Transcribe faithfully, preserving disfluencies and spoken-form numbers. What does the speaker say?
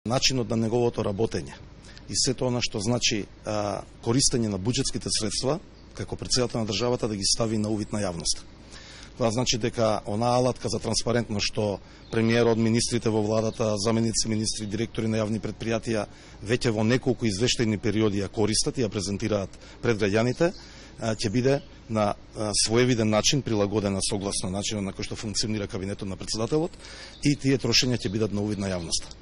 Начинот на неговото работење и сето она што значи а, користење на буџетските средства како председател на државата да ги стави на увид на јавноста. Това значи дека онаа алатка за транспарентно што премиерот, министрите во владата, заменици министри, директори на јавни предпријатија веќе во неколку извештајни периоди ја користат и ја презентираат пред граѓаните, ќе биде на своевиден начин прилагодена согласно начинот на кој што функционира кабинетот на председателот и тие трошења ќе бидат на увид на јавноста.